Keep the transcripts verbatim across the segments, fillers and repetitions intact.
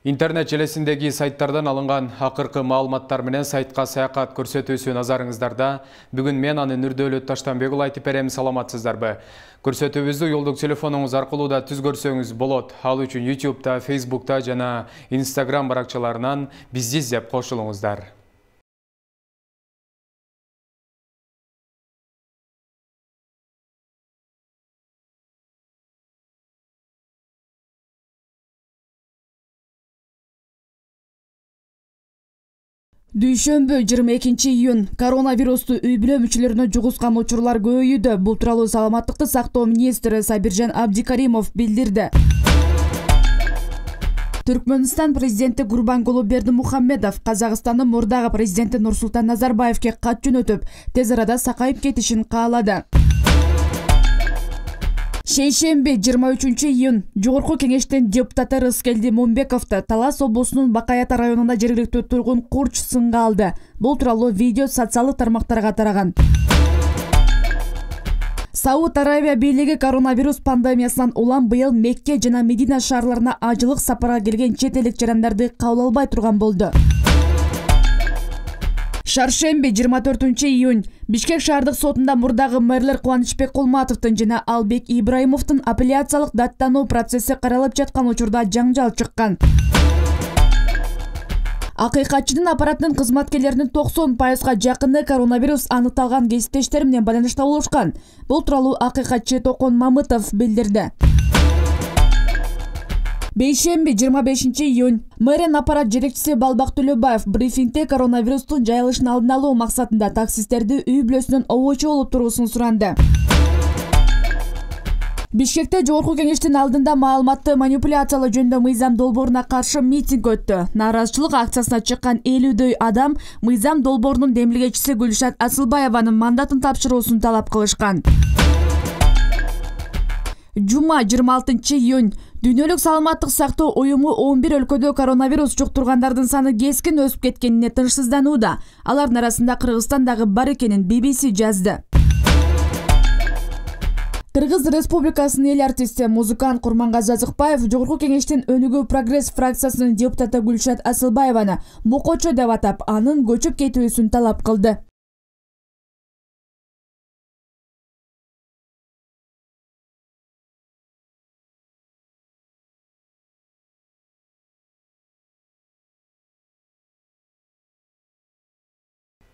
Интернет желесиндеги сайттардан алынган акыркы маалыматтар менен сайтка саякат көрсөтүүсү назарыңыздарда. Бүгүн мен аны Нурдөөлөт Таштанбек уулу айтып берем, саламатсыздарбы? Көрсөтүүбүздү жолдук телефонуңуз аркылуу да түзгөрсөңүз болот. Ал үчүн ютубта, фейсбукта жана инстаграм баракчаларынан бизди издеп кошулуңуздар. Дүйшөмбү жыйырма экинчи июнь коронавирусту үй бүлө мүчөлөрүнө жугузган учурлар көбөйүүдө. Бул тууралуу саламаттыкты сактоо министри Сабиржан Абдикаримов билдирди. Түркмөнстан президенти Гурбангулы Бердимухамедов Казакстандын мурдагы президенти Нурсултан Назарбаевке кат жөнөтүп, тез арада сакайып кетишин каалады. Шейшемби жыйырма үчүнчү июнь Жогорку кеңештин депутаты Рыскелди Момбековду Талас облусунун Бакаята районунда жергиликтүү тургун курч сынга алды. Бул тууралуу видео социалдык тармактарга тараган. Сауд Арабия бийлиги коронавирус пандемиясынан улам быйыл Мекке жана Медина шаарларына ажылык сапарга келген чет элдик жарандарды кабыл албай турган болду. Шаршемби жыйырма төртүнчү июнь Бишкек шаардык сотунда мурдагы мэрлер Кубанычбек Кулматовдун жана Албек Ибраимовдун апелляциялык даттануу процесси каралып жаткан учурда жаңжал чыккан. Акыйкатчынын аппаратынын кызматкерлеринин токсон пайызга жакыны коронавирус аныкталган кесиптештери менен байланышта болушкан. Бул тууралуу акыйкатчы Токон Мамытов билдирди. Бейшемби жыйырма бешинчи июнь мэрин аппарат жетекчиси Балбак Төлөбаев брифингде коронавирустун жайылышын алдын алуу максатында таксисттерди үй бүлөсүнөн обочу болуп туруусун суранды. Бишкекте Жогорку кеңештин алдында маалыматты манипуляциялоо жөнүндө мыйзам долбооруна каршы митинг өттү. Нааразычылык акциясына чыккан элүүдөй адам мыйзам долбоорунун демилгечиси Гүлшат Асылбаеванын мандатын тапшыруусун талап кылышкан. Жума жыйырма алтынчы июнь Дүйнөлүк саламаттык сактоо уюму он бир өлкөдө коронавирус жуктургандардын саны кескин өсүп кеткенине тынчсызданууда. Алардын арасында Кыргызстан дагы бар экенин би би си жазды. Кыргыз Республикасынын эл артисти, музыкант Курмангазы Азыкбаев Жогорку кеңештин Өнүгүү прогресс фракциясынын депутаты Гүлшат Асылбаеваны бокочо деп атап, анын көчүп кетүүсүн талап кылды.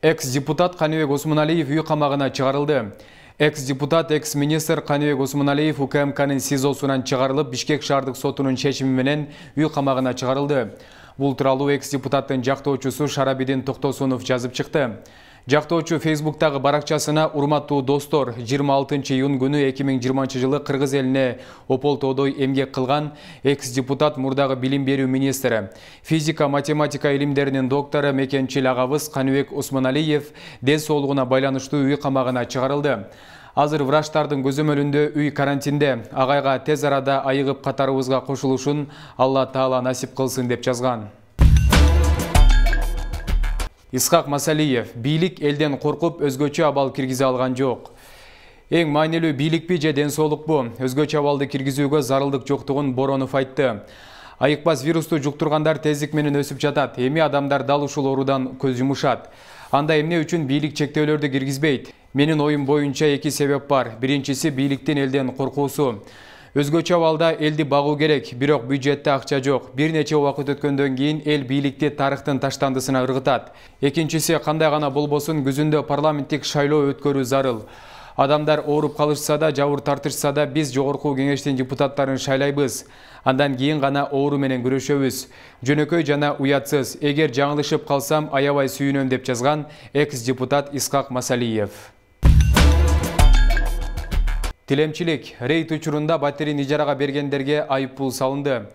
Экс-депутат Каныбек Осмоналиев үй камагына чыгарылды. Экс-депутат, экс-министр Каныбек Осмоналиев У К М К'нын СИЗОсунан чыгарылып, Бишкек шаардык сотунун чечими менен үй камагына чыгарылды. Бул тууралуу экс-депутаттын жактоочусу Шарабидин Токтосунов жазып чыкты. Жактоочу Фейсбуктагы баракчасына: урматтуу достор, жыйырма алтынчы июнь күнү эки миң жыйырманчы жылы Кыргыз элине ополтоодой эмгек кылган экс-депутат, мурдагы билим берүү министри, физика, математика илимдеринин доктору, мекенчил агабыз Каныбек Осмоналиев ден соолугуна байланыштуу үй камагына чыгарылды. Азыр врачтардын көзөмөлүндө үй карантинде. Агайга тез арада айыгып катарыбызга кошулушун Алла Таала насип кылсын деп жазган. Исхак Масалиев: бийлик элден коркуп өзгөчө абал киргизе алган жок. Эң маанилүү бийликпи же ден соолукпу? Өзгөчө абалды киргизүүгө зарылдык жоктугун Боронов айтты. Айыкпас вирусту жуктургандар тездик менен өсүп жатат. Эми адамдар дал ушул оорудан көз жумушат. Анда эмне үчүн бийлик чектөөлөрдү киргизбейт? Менин оюм боюнча эки себеп бар. Биринчиси бийликтин элден коркуусу. Өзгөчө абалда элди багуу керек, бирок бюджетте акча жок. Бир нече убакыт өткөндөн кийин эл бийликти тарыхтын таштандысына ыргытат. Экинчиси, кандай гана болбосун, күзүндө парламенттик шайлоо өткөрүү зарыл. Адамдар ооруп калышса да, жабыр тартышса да, биз Жогорку кеңештин депутаттарын шайлайбыз. Андан кийин гана оору менен күрөшөбүз. Жөнөкөй жана уятсыз. Эгер жаңылышып калсам, аябай сүйүнөм деп жазган экс-депутат Исхак Масалиев. Тилемчилик: рейд учурунда батирин ижарага бергендерге айыппул салынды.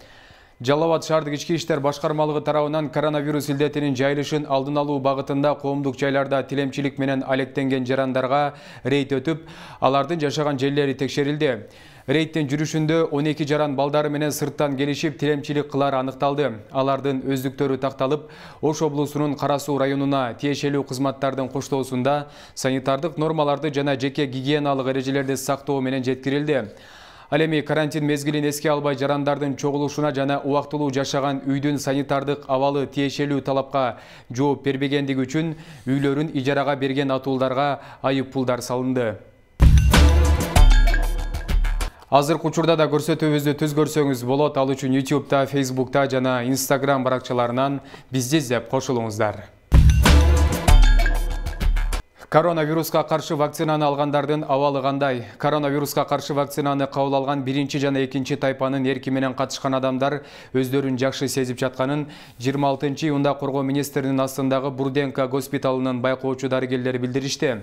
Жалал Абад шаардык ички иштер башкармалыгы тарабынан коронавирус илдетинин жайылышын алдын алуу багытында коомдук жайларда тилемчилик менен алектенген жарандарга рейд өтүп, алардын жашаган жерлери текшерилди. Рейдтин жүрүшүндө он эки жаран балдары менен сырттан келишип тилемчилик кылары аныкталды. Алардын өздүктөрү такталып, Ош облусунун Кара Суу районуна тиешелүү кызматтардын коштоосунда санитардык нормаларды жана жеке гигиеналык эрежелерди сактоо менен жеткирилди. Ал эми карантин мезгилин эске албай жарандардын чогулушуна жана убактылуу жашаган үйдүн санитардык абалы тиешелүү талапка жооп бербегендиги үчүн үйлөрүн ижарага берген атуулдарга айып пулдар салынды. Азыркы учурда да көрсөтүүбүздү түз көрсөңүз болот. Ал үчүн ютубта, фейсбукта жана инстаграм баракчаларынан бизди издеп кошулуңуздар. Коронавируска каршы вакцинаны алгандардын абалы кандай? Коронавируска каршы вакцинаны кабыл алган биринчи жана экинчи тайпанын эрки менен катышкан адамдар өздөрүн жакшы сезип жатканын жыйырма алтынчы июнда коргоо министринин астындагы Бурденко госпиталынын байкоочу дарыгерлери билдиришти.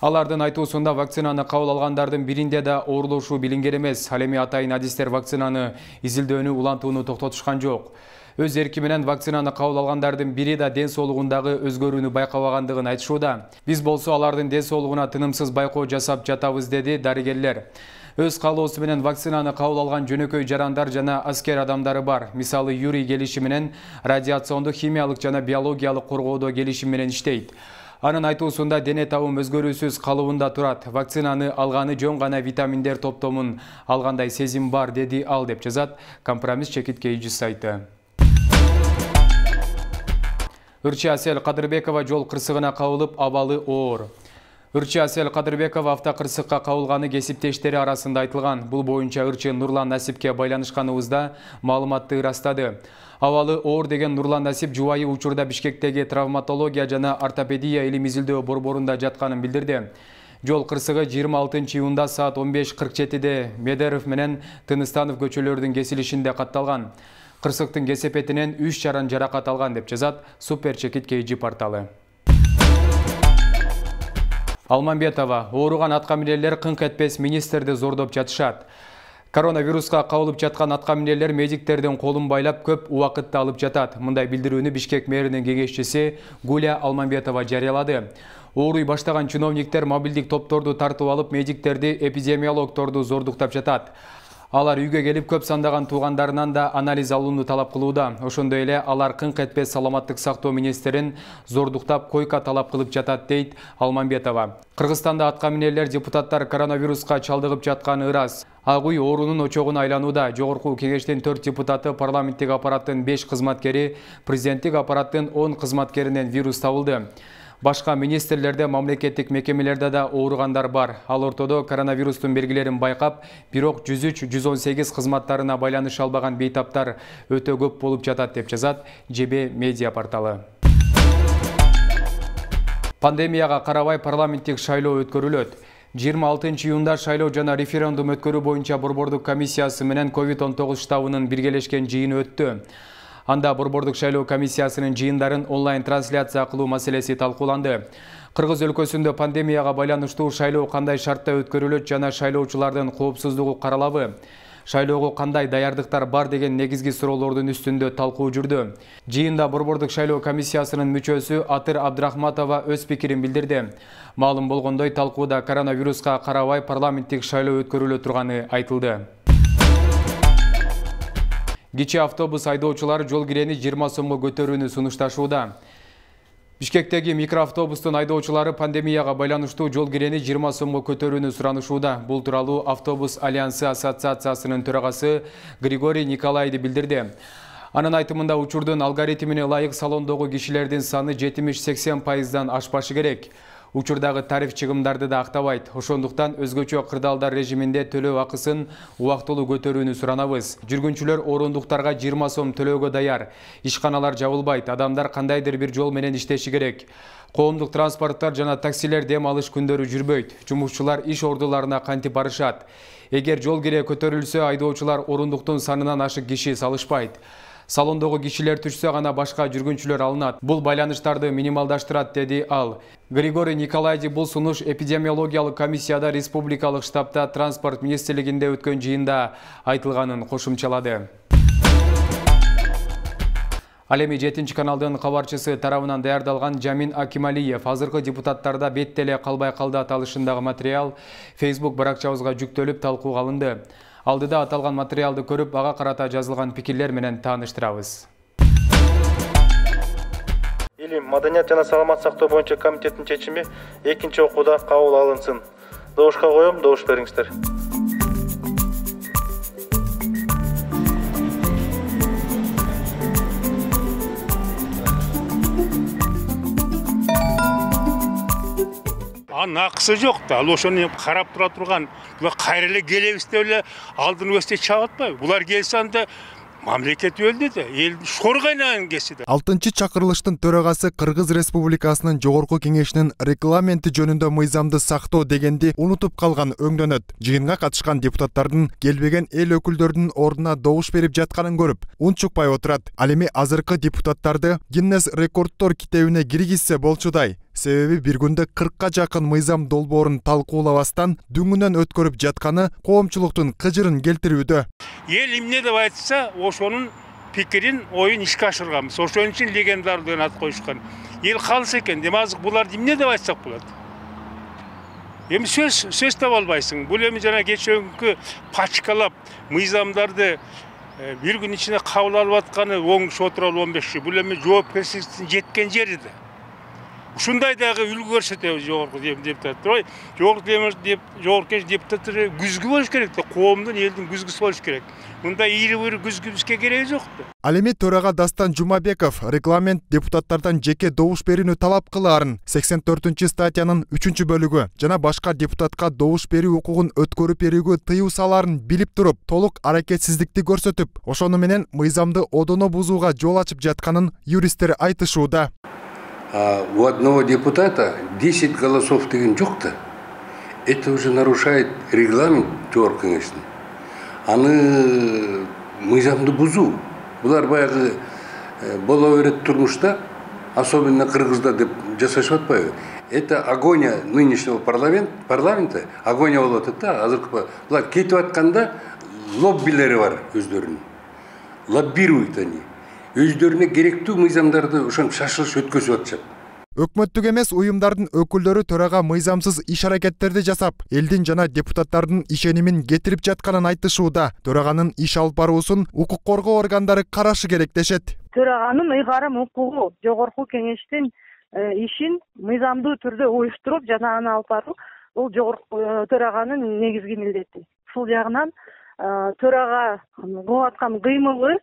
Алардын айтуусунда вакцинаны кабыл алгандардын биринде да оорулошуу билинген эмес. Ал эми атайын адистер вакцинаны изилдөөнү улантууну токтотушкан жок. Өз эрки менен вакцинаны кабыл алгандардын бири да ден соолугундагы өзгөрүүнү байкабагандыгын айтышууда. Биз болсо алардын ден соолугуна тынымсыз байкоо жасап жатабыз, деди дарыгерлер. Өз каалоосу менен вакцинаны кабыл алган жөнөкөй жарандар жана аскер адамдары бар. Мисалы, Юрий келиши менен радиациондук, химиялык жана биологиялык коргоодо келишим менен иштейт. Анын айтуусунда дене табым өзгөрүүсүз калыбында турат. Вакцинаны алганы жөн гана витаминдер топтомун алгандай сезим бар, деди ал, деп жазат Компромисс чекиткейчи сайты. Ырчы Асель Кадырбекова жол кырсыгына кабылып, абалы оор. Ырчы Асель Кадырбекова автокырсыкка кабылганы кесиптештери арасында айтылган. Бул боюнча ырчы Нурлан Насипке байланышканыбызда маалыматты ырастады. Абалы оор деген Нурлан Насип жубайы учурда Бишкектеги травматология жана ортопедия илим изилдөө борборунда жатканын билдирди. Жол кырсыгы жыйырма алтынчы июнда саат он беш кырк жетиде Медеров менен Тыныстанов көчөлөрүнүн кесилишинде катталган. Кырсыктын кесепетинен үч жаран жаракат алган, деп жазат Супер Чекит Кейджи порталы. Алмамбетова: ооруган аткаминерлер кыңк этпес министрди зордоп жатышат. Коронавируска кабылып жаткан аткаминерлер медиктердин колун байлап көп убакытты алып жатат. Мындай билдирүүнү Бишкек мэринин кеңешчиси Гуля Алмамбетова жарыялады. Ооруй баштаган чиновниктер мобилдик топторду тартып алып, медиктерди, эпидемиологторду зордуктап жатат. Алар үйгө келип көп сандаган туугандарынан да анализ алууну талап кылууда. Ошондой эле алар кыңк этпес саламаттык сактоо министрин зордуктап койка талап кылып жатат, дейт Алмамбетова. Кыргызстанда аткаминерлер депутаттар коронавируска чалдыгып жатканы ырас. Ак үй оорунун очогуна айланууда. Жогорку кеңештин төрт депутаты, парламенттик аппараттын беш кызматкери, президенттик аппараттын он кызматкеринен вирус табылды. Башка министрлерде, мамлекеттик мекемелерде да ооругандар бар. Ал ортодо коронавирустун белгилерин байкап, бирок жүз үч жүз он сегиз кызматтарына байланыша албаган бейтаптар өтө көп болуп жатат, деп жазат ЖБ медиа порталы. Пандемияга карабай парламенттик шайлоо өткөрүлөт. жыйырма алтынчы июнда шайлоо жана референдум өткөрүү боюнча борбордук комиссиясы менен ковид он тогуз штабынын биргелешкен жыйыны өттү. Анда борбордук шайлоо комиссиясынын жыйындарын онлайн трансляция кылуу маселеси талкууланды. Кыргыз өлкөсүндө пандемияга байланыштуу шайлоо кандай шартта өткөрүлөт жана шайлоочулардын коопсуздугу каралабы? Шайлоого кандай даярдыктар бар деген негизги суроолордун үстүндө талкуу жүрдү. Жыйында борбордук шайлоо комиссиясынын мүчөсү Атыр Абдрахматова өз пикирин билдирди. Маалым болгондой, талкууда коронавируска карабай парламенттик шайлоо өткөрүлө турганы айтылды. Кичи автобус айдоочулары жол кирени жыйырма сомго көтөрүүнү сунушташууда. Бишкектеги микроавтобустун айдоочулары пандемияга байланыштуу жол кирени жыйырма сомго көтөрүүнү суранышууда. Бул тууралуу Автобус Альянсы ассоциациясынын төрагасы Григорий Николайды билдирди. Анын айтымында учурдун алгоритмине ылайык салондогу кишилердин саны жетимиш сексен пайыздан ашпашы керек. Учурдагы тариф чыгымдарды да актабайт. Ошондуктан өзгөчө кырдаалдар режиминде төлөө акысын убактылуу көтөрүүнү суранабыз. Жүргүнчүлөр орундуктарга жыйырма сом төлөөгө даяр. Ишканалар жабылбайт. Адамдар кандайдыр бир жол менен иштеши керек. Коомдук транспорттар жана таксилер дем алыш күндөрү жүрбөйт. Жумушчулар иш ордуларына кантип барышат. Эгер жол кире көтөрүлсө, айдоочулар орундуктун санынан ашык киши салышпайт. Салондогу кишилер түшсө гана башка жүргүнчүлөр алынат. Бул байланыштарды минималдаштырат, деди ал. Григорий Николайди бул сунуш эпидемиологиялык комиссияда республикалык штабта транспорт министрлигинде өткөн жыйында айтылганын кошумчалады. Ал эми жетинчи каналдын кабарчысы тарабынан даярдалган Жамин Акималиев азыркы депутаттарда бет теле калбай калды аталышындагы материал Facebook баракчабызга жүктөлүп талкууга алынды. Алдыда аталган материалды көрүп, ага карата жазылган пикирлер менен тааныштырабыз. Илим, маданият жана саламат сактоо боюнча комитеттин чечими экинчи окууда кабыл алынсын. Добушка коем, добуш бериңиздер. Анын акысы жок да. Ал ошону карап тура турган. Булар кайра эле келебиз деп эле алдын өстө чап атпайбы? Булар келсе анда мамлекет өлдү да, эл шор кайнаган кеси да. алтынчы чакырылыштын төрагасы Кыргыз Республикасынын жогорку кеңешинин регламенти жөнүндө мыйзамды сактоо дегенди унутуп калган өңдөнөт. Жыйынга катышкан депутаттардын келбеген эл өкүлдөрүнүн ордуна добуш берип жатканын көрүп, унчукпай отурат. Ал эми азыркы депутаттарды Гиннес рекордтор китебине киргизсе болчудай. Себеби бир күндө кыркка жакын мыйзам долбоорун талкуулабастан дүңүнөн өткөрүп жатканы коомчулуктун кыжырын келтирүүдө. Эл эмне деп айтса, ошонун пикирин, оюн ишке ашырганбыз. Ошон үчүн легендар деген ат коюшкан. Эл калса экен, эми азыр буларды эмне деп айтсак болот? Эми сөз сөз таба албайсың. Бул эми жана кечээкү пачкалап мыйзамдарды бир күн ичинде кабыл алып атканы оңуш отуралы он беш. Бул эми жоопкерчиликтин жеткен жери да. Ушундай дагы үлгү көрсөтөбүз жогорку депутаттар. Ой, жогорку деп жогорку депутаттар күзгү болуш керек да, коомдун, элдин күзгүсү болуш керек. Мындай ийри-бийри күзгүбүзгө кереги жок да. Ал эми төрага Дастан Жумабеков регламент депутаттардан жеке добуш берүүнү талап кылаарын сексен төртүнчү статьянын үчүнчү бөлүгү жана башка депутатка добуш берүү укугун өткөрүп берүүгө тыюу салаарын билип туруп, толук аракетсиздикти көрсөтүп, ошону менен мыйзамды одоно бузууга жол ачып жатканын юристтер айтышууда. А у одного депутата десять голосов деген жок-то. Это уже нарушает регламент жогорку кеңештин. Аны мыйзамды бузуу. Булар баягы боло берет турмушта, особенно кыргызда деп жасашып атпайбы? Это агония нынешнего парламент, парламента, агония болуп атат да. Азыркы булар кетип атканда лоббилери бар өздөрүнүн. Лоббируют они. Өздөрүнө керектүү мыйзамдарды ошон шашылыш өткөзүп атышат. Өкмөттүк эмес уюмдардын өкүлдөрү төрага мыйзамсыз иш аракеттерди жасап, элдин жана депутаттардын ишенимин кетирип жатканын айтышууда. Төраганын иш алып баруусун укук коргоо органдары карашы керек дешет. Төраганын ыйгарым укугу жогорку кеңештин ишин мыйзамдуу түрдө уюштуруп жана аны алып баруу бул жогорку төраганын негизги милдети. Ушул жагынан төрага кылып аткан кыймылы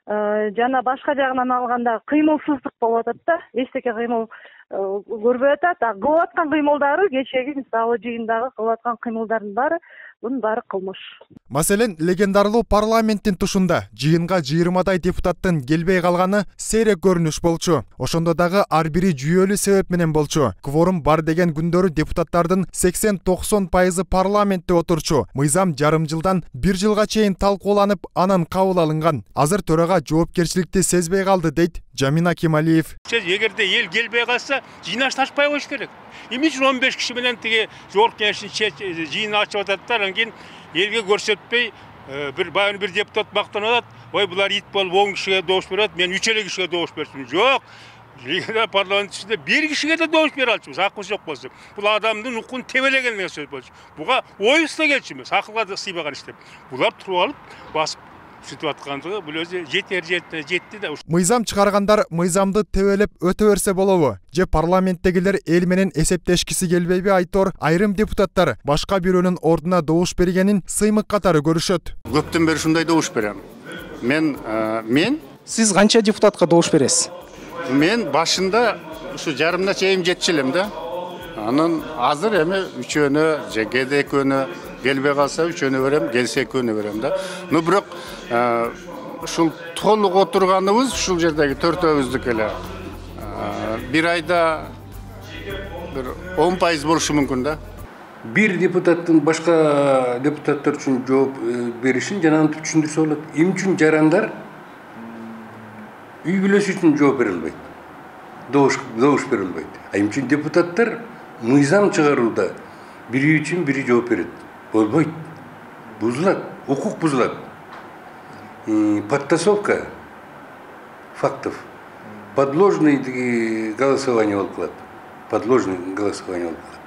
жана башка жагынан алганда кыймылсыздык болуп атат да, эчтеке кыймыл көрбөй атат. А кылып аткан кыймылдары кечеги мисалы жыйындагы кылып аткан кыймылдардын баары бунун баары кылмыш. Маселен, легендарлуу парламенттин тушунда жыйынга жыйырмадай депутаттын келбей калганы сейрек көрүнүш болчу. Ошондо дагы ар бири жүйөлүү себеп менен болчу. Кворум бар деген күндөрү депутаттардын сексен токсон пайызы парламентте отурчу. Мыйзам жарым жылдан бир жылга чейин талкууланып, анан кабыл алынган. Азыр төрага жоопкерчиликти сезбей калды дейт Жамина Кемалиев. Эгерде эл келбей калса, жыйнашташпай коюш керек. Эмне үчүн он беш киши менен тиги жогорку кеңештин жыйынын ачып атат, анан кийин элге көрсөтпөй бир баягы бир депутат мактанып атат. Ой, булар ит болуп он кишиге добуш берет, мен үч эле кишиге добуш берсим. Жок. Легендар парламент ичинде бир кишиге да добуш бере алчубуз, акыбыз жок болсо. Бул адамдын укугун тебелеген деген сөз болчу. Буга оюбузда келчү эмес, акылга да сыйбаган иштеп. Булар туруп алып, басып сүтүп аткандыгы бул өзү жетер жетти жетти да. Мыйзам чыгаргандар мыйзамды тебелеп өтө берсе болобу? Же парламенттегилер эл менен эсептешкиси келбейби айтор айрым депутаттар башка бирөөнүн ордуна добуш бергенин сыймык катары көрүшөт. Көптөн бери ушундай добуш берем. Мен мен Сиз канча депутатка добуш бересиз? Мен башында ушу жарымына чейин жетчү элем да. Анан азыр эми үчөөнө же кээде экөөнө келбей калса үчөөнө берем, келсе экөөнө берем да. Ну бирок ушул толук отурганыбыз ушул жердеги төртөөбүздүк эле. Бир айда бир он пайыз болушу мүмкүн да. Бир депутаттын башка депутаттар үчүн жооп беришин жана антип түшүндүрсө болот. Эмне үчүн жарандар үй бүлөсү үчүн жооп бере албайт. Добуш добуш бере албайт. А эмне үчүн депутаттар мыйзам чыгарууда бири үчүн бири жооп берет. Болбойт. Бузулат, укук бузулат. Подтасовка фактов. Подложный голосование болуп калат. Подложный голосование болуп калат.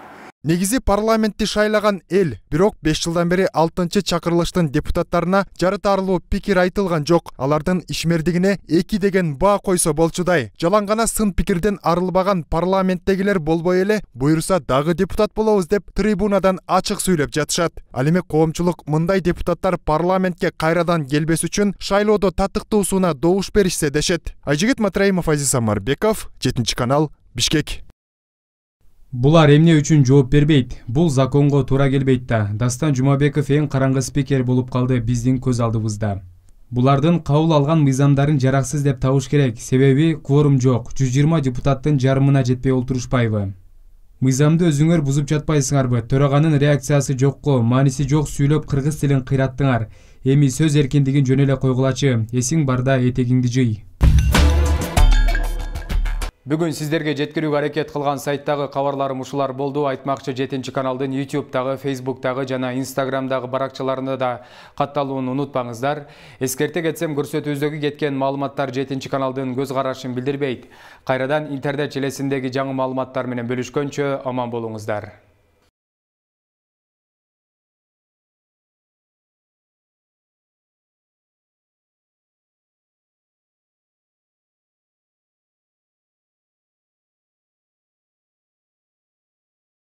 Негизи парламентти шайлаган эл, бирок беш жылдан бери алтынчы чакырылыштын депутаттарына жарытарлуу пикир айтылган жок. Алардын ишмердигине эки деген баа койсо болчудай. Жалаң гана сын пикирден арылбаган парламенттегилер болбой эле буйруса дагы депутат болобуз деп трибунадан ачык сүйлөп жатышат. Ал эми коомчулук мындай депутаттар парламентке кайрадан келбес үчүн шайлоодо татыктуусуна добуш беришсе дешет. Айжигит Матраимов, Азиз Самарбеков, жетинчи канал, Бишкек. Булар эмне үчүн жооп бербейт? Бул законго туура келбейт да. Дастан Жумабеков эң караңгы спикер болуп калды биздин көз алдыбызда. Булардын кабыл алган мыйзамдарын жараксыз деп табыш керек, себеби кворум жок. жүз жыйырма депутаттын жарымына жетпей олтурушпайбы? Мыйзамды өзүңөр бузуп жатпайсыңарбы? Төраганын реакциясы жокко, мааниси жок сүйлөп кыргыз тилин кыйраттыңар. Эми сөз эркиндигин жөн эле койгулачы. Эсиң барда этегиңди жый. Бүгүн сиздерге жеткирүүгө аракет кылган сайттагы кабарларым ушулар болду. Айтмакчы жетинчи каналдын ютубтагы, фейсбуктагы жана инстаграмдагы баракчаларында да катталууну унутпаңыздар. Эскерте кетсем, көрсөтүүбүздөгү кеткен маалыматтар жетинчи каналдын көз карашын билдирбейт. Кайрадан интернет желесиндеги жаңы маалыматтар менен бөлүшкөнчө аман болуңуздар.